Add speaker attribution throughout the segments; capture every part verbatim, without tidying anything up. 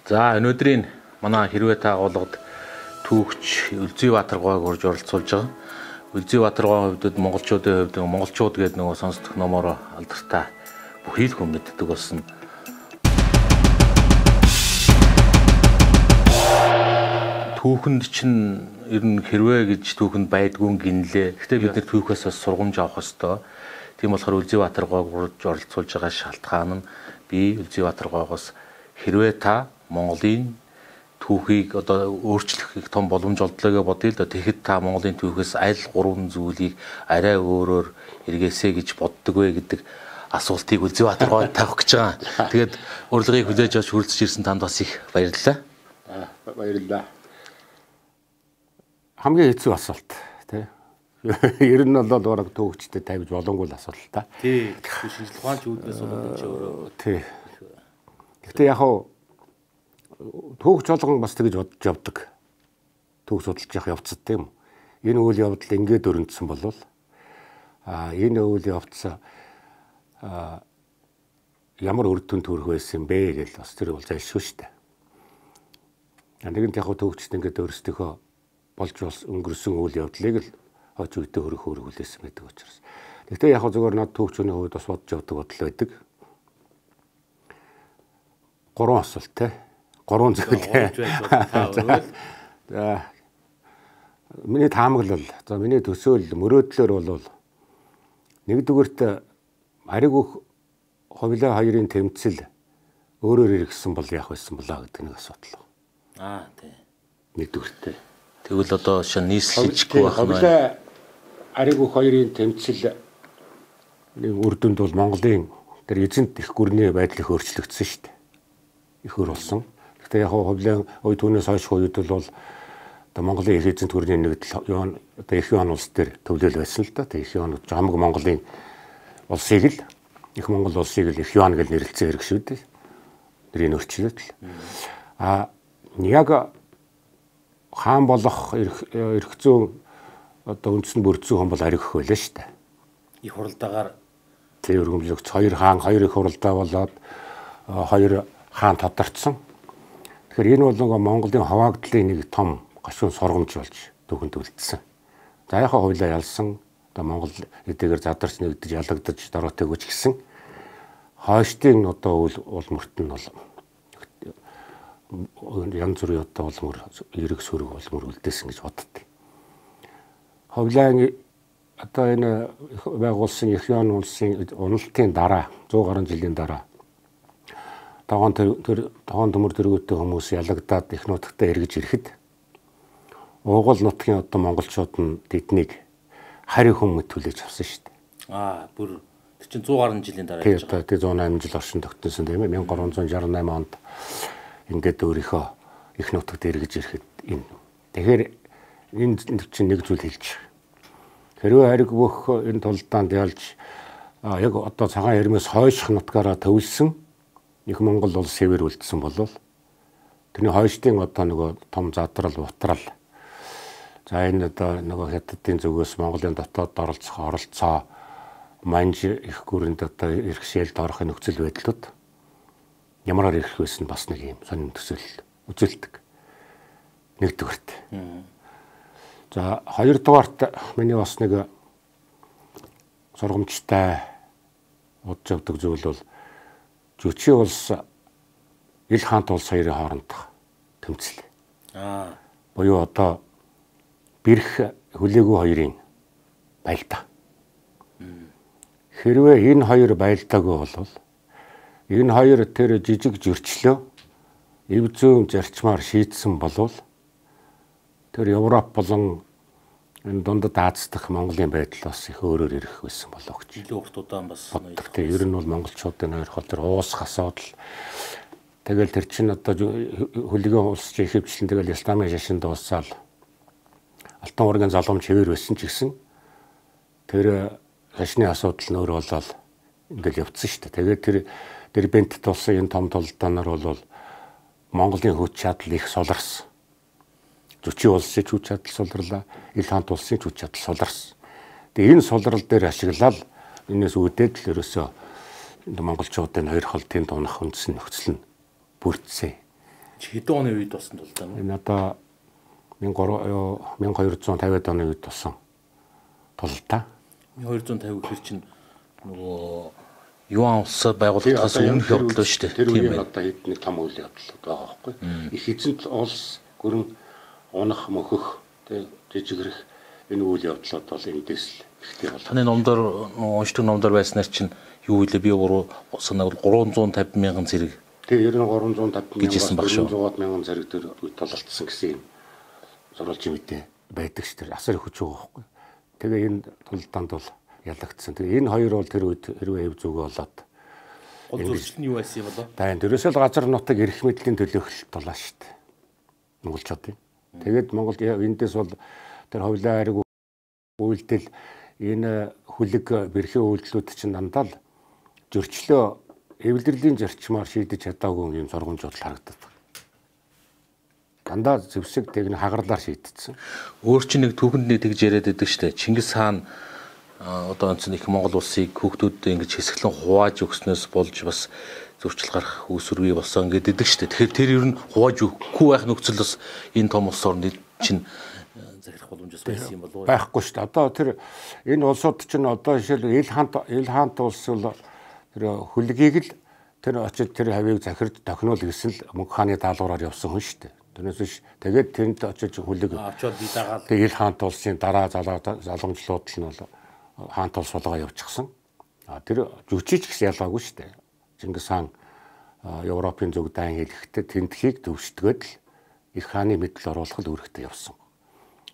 Speaker 1: За өнөөдрийн манай хэрвээ та агуулгад түүхч Үлзийбаатар гуайг урьж оролцуулж байгаа. Үлзийбаатар гуайг хувьд монголчуудын хувьд монголчууд гэдэг нөгөө сонсдох номоор алдартай бүхий л хүн мэддэг болсон. Түүхэнд чинь ер нь хэрвээ гэж түүхэнд байдгүй гинлээ. Гэхдээ бид нэр түүхээс бас сургамж авах ёстой. Тийм болохоор Үлзийбаатар гуайг урьж оролцуулж байгаа шалтгаан нь би Үлзийбаатар гуайгаас хэрвээ та Монголын түүхийг одоо өөрчлөх их том боломж олдлоо гэж бодъё л да. Тэгэхэд та Монголын түүхээс аль гурван зүйлийг арай өөрөөр эргээсэй гэж боддог вэ гэдэг асуултыг Үлзийбаатар гуайг тавих гэж байгаа. Тэгээд урилгыг хүлээж авч хүрэлцэж ирсэн танд бас их баярлалаа.
Speaker 2: Аа баярлалаа. Хамгийн хэцүү асуулт тий. Ер нь бол бараг түүхчтэй тавьж болонгүй л асуулт та.
Speaker 1: Тий. Шинжлэх ухаанч үүднээс болоод ч өөрөө.
Speaker 2: Тий. Гэхдээ яг хаа түүхч болгон бас тэгж бодож явдаг. Түүх судалж явах явцад тийм. Энэ үйл явдал ингээд өрнөдсөн болвол а энэ үйл явдал а ямар үр дүнд хүрэх байсан бэ гэж бас тэр бол зайлшгүй шүү дээ. Нэгэнт яг түүхчд ингээд өөрсдийнхөө болж бас өнгөрсөн үйл явдлыг л хойч үедээ хөрөх хөрөх хүлээсэн байдаг учраас. Гэхдээ яг зөвөр над түүхчний хувьд бас бодож явдаг бодол байдаг. Гурван асуулт те. Гурван зүйл. За миний таамаглал, за миний төсөөлөл мөрөөдлөөр бол нэгдүгээрт ариг бүх ховлоо хоёрын тэмцэл өөрөөр иргэсэн бол яах байсан болоо гэдэг нэг асуудал.
Speaker 1: Аа тий.
Speaker 2: Нэгдүгээрт.
Speaker 1: Тэгвэл одоо шин нийслэжгүй байх нь.
Speaker 2: Ховлоо ариг бүх хоёрын тэмцэл нэг үр дүнд бол Монголын тэр эзэнт их гүрний байдал их өөрчлөгдсөн шүү дээ. Их өр болсон. Гэхдээ яг ховлын ой түүнээс хойш үед бол одоо Монголын их эзэнт гүрний нэгдэл юу одоо их юан улс төр төвлөл байсан л да. Тэг их юан хамаг Монголын улсыг л их Монгол улсыг л их юан гэж нэрлэлцэн хэрэг шүү дээ. Тэрийн өөрчлөлт. А яг хаан болох эрх зүйн одоо үндсэн бүрдсэн хүн бол ариг өх байлаа шүү дээ.
Speaker 1: Их хуралдаагаар
Speaker 2: тэр өргөмжлөгч хоёр хаан хоёр их хуралдаа болоод хоёр хаан тодорцсон. Тэгэхээр энэ бол нөгөө Монголын хаваагдлын нэг том гашуун сургамж болж түүхэнд үлдсэн. За яхаа хуйлаа ялсан одоо Монгол эдгээр задарч нэгдэж ялагдаж дороотой гэж гисэн. Хойштын одоо улмөрт нь бол янз бүрийн одоо улмөр эрэг сүрэг улмөр үлдээсэн гэж боддتي. Ховлын одоо энэ байгуулсан их юан улсын уналтын дараа зуун гаруй жилийн дараа Тогоон тэр тогоон төмөр дэргүүтэй хүмүүс ялагдаад их нутагтаа эргэж ирэхэд уугуул нутгийн одоо монголчууд нь тэднийг хари хүмүүд түлээж авсан шүү дээ.
Speaker 1: Аа бүр тэр чинь зуун гаруй жилийн дараа гэж
Speaker 2: байгаа. Тэгээ зуун осем жил оршин тогтносон тийм ээ. мянга гурван зуун шаргу осем онд ингээд өөрийнхөө их нутагт эргэж ирэхэд энэ. Тэгэхээр энэ чинь нэг зүйл хэлж. Хэрвээ хариг бүх энэ тулдаанд ялж яг одоо цагаан ярмаас хойших нутгаараа төвлсөн их Монгол улс хэвээр үлдсэн болвол тэрний хойштын одоо нөгөө том задрал утрал за энэ одоо нөгөө хятадын зүгээс Монголын дотоод оролцох оролцоо манж их гүрэнд одоо иргэшээлд орохын нөхцөл байдлууд ямараар ирэх байсан бас нэг юм сонин төсөөлөл үзүүлдэг. Нэгдүгээрт. За хоёрдугаарт миний бас нэг сургамжтай бодж явдаг зүйл бол Жүчи улс Ил хаант улс хоёрын хоорондох тэмцэл. Аа. Буюу одоо бэрх хүлээгүй хоёрын байлдаа. Хэрвээ энэ хоёр байлдаагүй болвол энэ хоёр тэр жижиг зөрчлөө эв зүүн зарчмаар шийдсэн болвол тэр Европ болон энэ дундад Аз дахь Монголын байдал бас их өөрөөр ирэх байсан болоо гэж.
Speaker 1: Илүү урт удаан бас
Speaker 2: ноёлох. Ер нь бол монголчуудын ойрхол тэр уусах асуудал. Тэгэл тэр чинь одоо хөлгийн улс чинь ихэвчлэн тэгэл исламын шашин дуусаад Алтан уургийн залгамж хэвээр байсан ч гэсэн тэр шашны асуудал нь өөр болоод ингээл явцсан шүү дээ. Тэгээд тэр Дербент тулсан энэ том тулдаанаар бол Монголын хүч чадал их суларсан. Жүчи улсын хүч чадал суларлаа, Ил хаант улсын хүч чадал суларсан. Тэгээ энэ сулрал дээр ашиглаад энэс үүдээд л ерөөсөө монголчуудын хоёр холтын дунах үндсэн нөхцөл нь бүрдсэн.
Speaker 1: Хэдэн оны үед болсон тулдаа нь?
Speaker 2: Энэ одоо 천хоёр зуун тавиад оны үед болсон тулдаа.
Speaker 1: 천хоёр зуун тавь гэхэр чинь нөгөө юан улсад байгуулагдахаас өмнөх явдал шүү дээ.
Speaker 2: Тэр үеийн одоо хэд нэг том үйл явдал байгаа байхгүй. Их эзэнт улс гөрөн унах мөхөх тэг жижигрэх энэ үйл явдлууд бол эндээс л ихтэй бол.
Speaker 1: Таны номдор уншдаг номдор байснаар чинь юу вэ? Би гурав санаа гурван цаавь мянган зэрэг.
Speaker 2: Тэг ер нь гурван цаавь мянган
Speaker 1: дөрвөн
Speaker 2: мянган зэрэг төр тололцсон гэсэн юм зурвалж мэдээ байдаг шүү дээ. Асар их хүч байгаа байхгүй. Тэгээ энэ тулдаанд бол ялагдсан. Тэгээ энэ хоёр бол тэр үед хэрвээ хэв зүг болоод
Speaker 1: гол зуршил нь юу байсан юм болоо?
Speaker 2: Тань дөрөөсөө л газар нутаг эрх мэдлийн төлөөлөлт болоо шүү дээ. Монголчуудын. Тэгээд Монголд эндээс бол тэр ховлоо хариг үйлдэл энэ хүлэг бэрхээ үйлдэлүүд чинь дандаа л зөрчлөө эвлэрлийн зарчмаар шийдэж чадаагүй юм сургамжууд харагддаг. Дандаа зэвсэг тэгнэ хагарлаар шийдсэн.
Speaker 1: Өөр чинь нэг түүхэнд нэг тэгж яриад байдаг шүү дээ. Чингис хаан одоо онцны их Монгол улсыг хүүхдүүдэд ингэж хэсэглэн хувааж өгснөөс болж бас зөрчил гарах үүсвэргүй болсон гэдэг дээ шүү дээ. Тэгэхээр тэр ер нь хувааж өгөхгүй байх нөхцөл бас энэ том улс орны чинь захирах боломжтой байсан юм болов уу?
Speaker 2: Байхгүй шүү дээ. Одоо тэр энэ улсууд чинь одоо жишээл ил хаант ил хаант улс бол тэр хүлгийг л тэр очиж тэр хавийг захирд тохинол гэсэн л мөнх хааны даалгавраар явсан хүн шүү дээ. Тэрнээс биш тэгээд тэнд очиж хүлэг
Speaker 1: авчаад би дагаад
Speaker 2: тэгээд ил хаант улсын дараа залгамжлууд нь бол хаант улс болгоо явчихсан. А тэр жүчиж гэсэн ялгаагүй шүү дээ. Чингис хаан Европын зүг дан хэлэхдээ тентхийг төвшдгөөд л их хааны мэдл оруулах л үүрэгтэй явсан.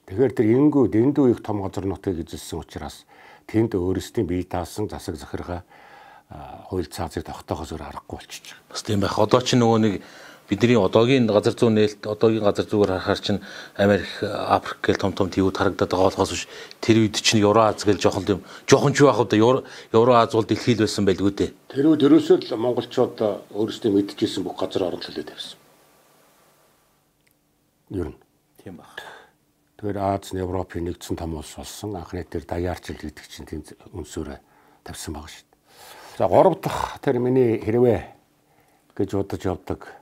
Speaker 2: Тэгэхээр тэр энгүү дэндүү их том газар нутгийг эзэлсэн учраас тэнд өөрсдийн бие даасан засаг захиргаа хууль цаазыг тогтоохоос өөр аргагүй болчихж байгаа.
Speaker 1: Бас тийм байх. Одоо ч нөгөө нэг бидний одоогийн газар зүүн нээлт одоогийн газар зүгээр харахаар чинь Америк, Африк гэл том том тийүүд харагдаад байгаа болохоос биш тэр үед чинь Евроаз гэл жоохон тийм жоохон ч байх удаа Евроаз бол дэлхий л байсан байлгүй дээ.
Speaker 2: Тэр үед ерөөсөө л монголчууд өөрсдөө мэдчихсэн бүх газар орон төлөөд тавьсан. Ер нь
Speaker 1: тийм баг.
Speaker 2: Тэгэхээр Аз, Европын нэгдсэн том улс болсон. Анхны тэр даяарчил гэдэг чинь тийм үнсөөрэ тавьсан байгаа шүү дээ. За гурав дахь тэр миний хэрвээ гэж бодож явдаг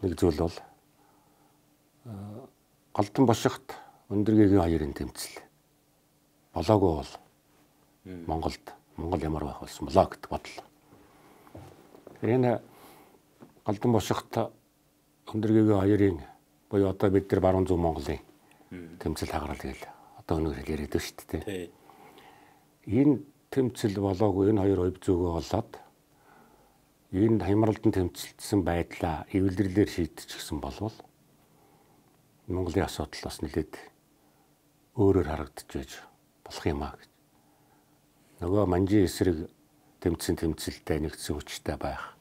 Speaker 2: нэг зүйл бол Галдан бошигт Өндөргийн хоёрын тэмцэл болоогүй бол Монголд Монгол ямар байх болсон болоо гэдэг бодлоо. Энэ Галдан бошигт Өндөргийн хоёрын буюу одоо бид нар баруун зүүн Монголын тэмцэл хагарал гээл одоо өнөөр яриад байна шүү дээ. Энэ тэмцэл болоогүй энэ хоёр хувь зүгөө болоод энэ хямралдан тэмцэлдсэн байдлаа эвлэрлээр шийдчихсэн болвол Монголын асуудал бас нэлээд өөрөөр харагдаж болох юм аа гэж. Нөгөө манжийн эсрэг тэмцэн тэмцэлтэй нэгдсэн хүчтэй байх.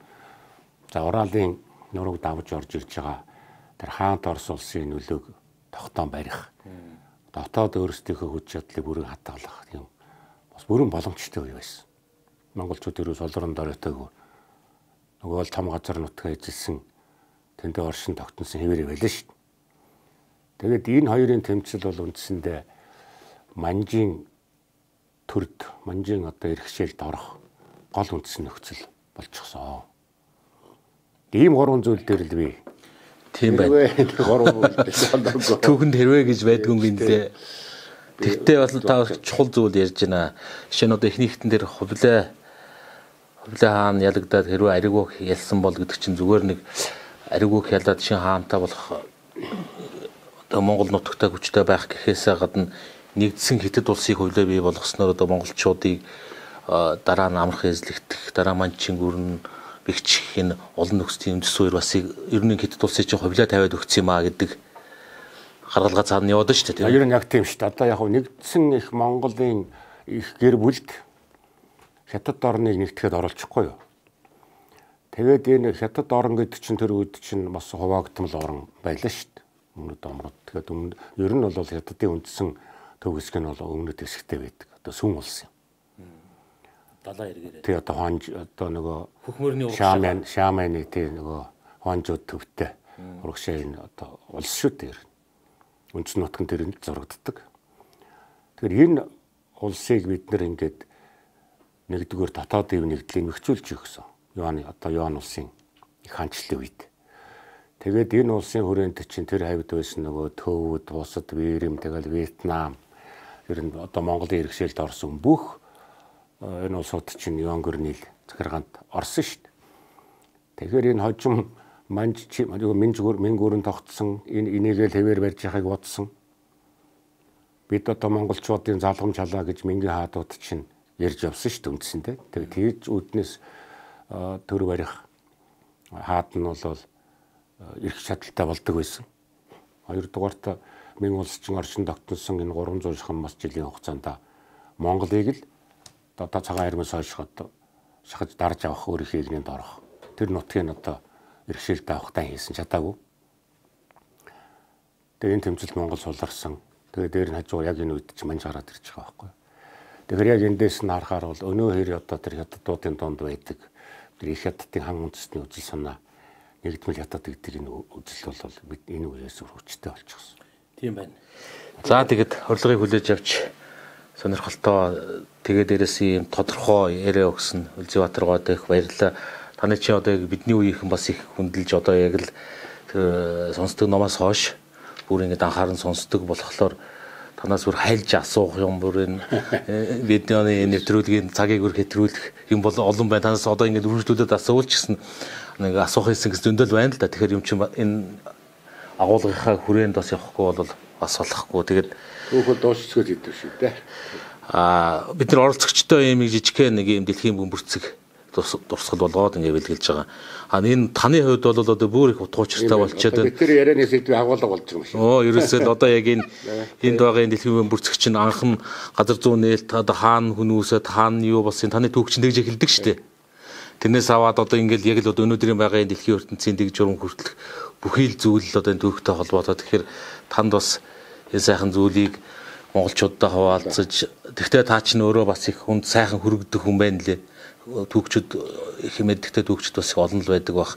Speaker 2: За Уралын нурууг давж орж ирж байгаа тэр хаант Орос улсын нөлөөг тогтоон барих. Дотоод өөрсдийнхөө хүч чадлыг бүрэн хадгалах юм. Бас бүрэн боломжтой үе байсан. Монголчууд ерөөс олрон доройтойгоо нөгөө л том газар нутгаа эзэлсэн тэндээ оршин тогтносон хэвээр байлаа шүү дээ. Тэгээд энэ хоёрын тэмцэл бол үндсэндээ манжийн төрд, манжийн одоо эрхшээлд орох гол үндсэн нөхцөл болчихсон. Ийм гурван зүйл дээр л би
Speaker 1: тийм байна. Түүхэнд хэрвээ гэж байдгүй юм гинэ. Тэгтээ бол та чухал зүйл ярьж байна. Жишээ нь одоо эхнийхтэн дээр хувлаа хувлаа хаан ялагдаад хэрвээ аригуух ялсан бол гэдэг чинь зүгээр нэг аригуух ялаад шин хаантай болох одоо Монгол нутагтай хүчтэй байх гэхээсээ гадна нэгдсэн хятад улсыг хувлаа бий болгосноор одоо монголчуудыг дараа нь амархан эзлэгдэх, дараа манчин гүрэн бэгчих энэ олон нөхцөлийн үндэс суурь бас ер нь хятад улсыг чинь хувлаа тавиад өгсөн юм аа гэдэг гаргалгаа цаана яваад шүү дээ.
Speaker 2: Ер нь яг тийм шүү дээ. Одоо яг нэгдсэн их Монголын их гэр бүлд хятад орныг нэгтгэхэд оролцохгүй юу? Тэгээд энэ хятад орн гэдэг чинь тэр үед чинь бас хуваагдмал орн байлаа шүү дээ. Өмнөд омрод. Тэгээд өмнө ер нь бол хятадын үндсэн төв хэсэг нь бол өмнөд хэсэгтэй байдаг. Одоо сүн улс юм.
Speaker 1: Далаа эргээрээ.
Speaker 2: Тэгээд одоо хонж одоо нөгөө
Speaker 1: хөхмөрний
Speaker 2: шааман шааманы тий нөгөө хонжууд төвтэй урагшаа энэ одоо улс шүү дээ. Үндсэн нутгийн тэрэнд зурагддаг. Тэгэхээр энэ улсыг бид нэр ингээд нэгдүгээр дотоодын нэгдлийг нөхцүүлж өгсөн. Юаны одоо Юан улсын их хаанчлалын үед. Тэгээд энэ улсын хүрээнд чинь тэр хавьд байсан нөгөө Төвөд, Бусад, Вэрэм, тэгэл Вьетнам ер нь одоо Монголын иргэшээлд орсон бүх энэ улсууд чинь Ёнгор нийл захиргаанд орсон шүү дээ. Тэгэхээр энэ хожим манж минж мингүүрэн тогтсон энэ энийгээ хэвээр барьж яхахыг бодсон. Бид одоо монголчуудын залгамж халаа гэж мингийн хаадууд чинь ярьж явсан шүү дээ үндсэндээ. Тэгээд тэгж үүднээс төр барих хаад нь бол ирэх чадaltaй болдог байсан. Хоёрдугаарт Мэн улс чинь орчин тогтносон энэ гурван зуун шахан мас жилийн хугацаанд Монголыг л одоо цагаан армиас хойш одоо шахаж дарж авах өөрийнхөө игнэнд орох. Тэр нутгийг одоо иргэшээлтэй авахтаа хийсэн чадаагүй. Тэгээ энэ тэмцэлд Монгол суларсан. Тэгээ дээр нь хажуу яг энэ үед чинь манж гараад ирж байгаа байхгүй. Тэгэхээр яг эндээс нь харахаар бол өнөө хэр одоо тэр хятадуудын донд байдаг. Тэр их хятадын хан үндэстний үзэл санаа нэгдмэл хятад гэдэг энэ үзэл бол бид энэ үеэс хүчтэй болчихсон.
Speaker 1: Тийм байна. За тэгэд урилгыг хүлээж авч сонирхолтой тэгээ дээрээс ийм тодорхой яриа өгсөн Үлзийбаатаргоод их баярлалаа. Таны чи одоо яг бидний үеийнхэн бас их хүндэлж одоо яг л сонсдог номоос хойш бүр ингэж анхааран сонсдог болохоор танаас бүр хайлж асуух юм бүр энэ видеоны нэвтрүүлгийн цагийг бүр хэтрүүлэх юм бол олон байна. Танаас одоо ингэж үргэлжлүүлээд асуувал ч гэсэн нэг асуух хэлсэн гэж зөндөл байна л да. Тэгэхээр юм чинь энэ агуулгынхаа хүрээнд бас явахгүй бол бас болохгүй. Тэгээд
Speaker 2: түүхэд дуусчиход идэв шүү дээ.
Speaker 1: Аа бид нар оролцогчтой юм жижигхэн нэг юм дэлхийн бөмбөрцөг дурсгал болгоод ингэ бэлгэлж байгаа. А энэ таны хувьд бол одоо бүр их утга учиртай болчиход байна.
Speaker 2: Тэр ярианы сэдвээ агуулга болж байгаа юм шиг.
Speaker 1: Оо ерөөсөө л одоо яг энэ энд байгаа энэ дэлхийн бөмбөрцөг чинь анхан газар зүүн нээлт одоо хаана хүмүүсэд хаана юу болсон таны түүхчин тэгж эхэлдэг шүү дээ. Тэрнээс аваад одоо ингээл яг л одоо өнөөдрийн байгаа энэ дэлхийн ертөнцийн дэг журам хүртэлх бүхий л зүйл одоо энэ түүхтэй холбоотой. Тэгэхээр танд бас энэ сайхан зүйлийг монголчуудтай хуваалцаж тэгтээ таа чинь өөрөө бас их хүнд сайхан хүргдэг хүн байна лээ. Түүхчид их мэддэгтэй түүхчид бас их олон л байдаг бах.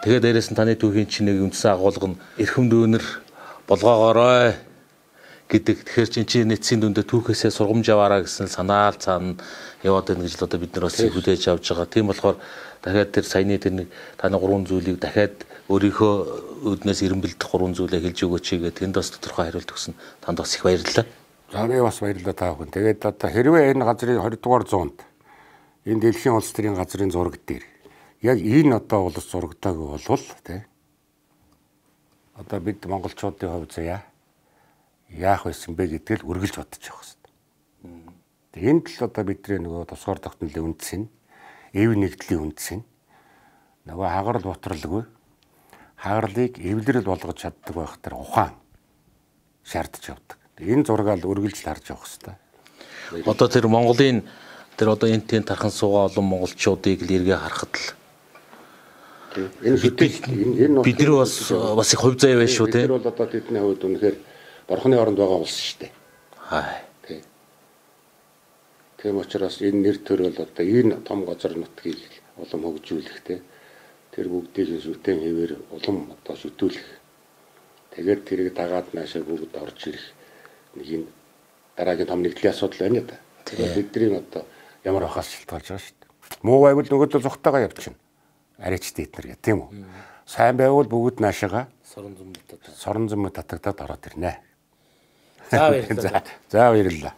Speaker 1: Тэгээд дээрээс нь таны түүхийн чинь нэг үндсэн агуулга нь эрхэм дүүнер болгоогоорой гэдэг. Тэгэхээр чинь чи нийтсийн дүндээ түүхээсээ сургамж аваараа гэсэн санаал цаана яваад байна гэж л одоо бид нар бас хүлээж авч байгаа. Тийм болохоор дахиад тэр саяны тэр нэг таны гурван зүйлийг дахиад өөрийнхөө үүднээс ирэмбэлдэх гурван зүйлээ хэлж өгөөч гэдэг тэнд бас тодорхой хариулт өгсөн. Танд бас их баярлалаа.
Speaker 2: За би бас баярлалаа та бүхэн. Тэгээд одоо хэрвээ энэ газрын двадцать дугаар зуунд энэ дэлхийн улс төрийн газрын зураг дээр яг энэ одоо улс зурагтайг болвол тий одоо бид монголчуудын хувьд заяа яах байсан бэ гэдгийг үргэлж бодож явах хэрэгтэй. Тэгээд энд л одоо бидний нөгөө тусгаар тогтнолын үндэс нь эв нэгдлийн үндэс нь нөгөө хагарал ботролгүй хагарлыг эвлэрэл болгож чаддаг байх тэр ухаан шаардж явдаг. Энэ зургаал үргэлж харж явах хэрэгтэй.
Speaker 1: Одоо тэр Монголын тэр одоо энэ тэн тархан суугаа олон монголчуудыг л эргээ харахад л
Speaker 2: энэ хэдий энэ
Speaker 1: бид нар бас бас их хувь заяа байна шүү те.
Speaker 2: Тэр бол одоо тэдний хувьд үнэхээр борхны оронд байгаа улс шүү дээ.
Speaker 1: Хай.
Speaker 2: Тийм учраас энэ нэр төр бол одоо энэ том газар нутгийг улам хөгжүүлэх те. Тэр бүгдийг сүтэн хэвээр улам одоо шүтүүлэх. Тэгээд тэрийг дагаад наашаа бүгд орж ирэх нэг юм дараагийн том нэгдлийн асуудал байна да. Тэгээд бидний одоо ямар ахаас шилтгаалж байгаа шүү дээ. Муу байвал нөгөөдөө зүгтайгаа явчихна. Арайчтай эднэр гэх тийм үү. Сайн байвал бүгд наашаага
Speaker 1: сорон зам татагдаад
Speaker 2: сорон зам татагдаад ороод ирнэ.
Speaker 1: За баярлалаа.
Speaker 2: За баярлалаа.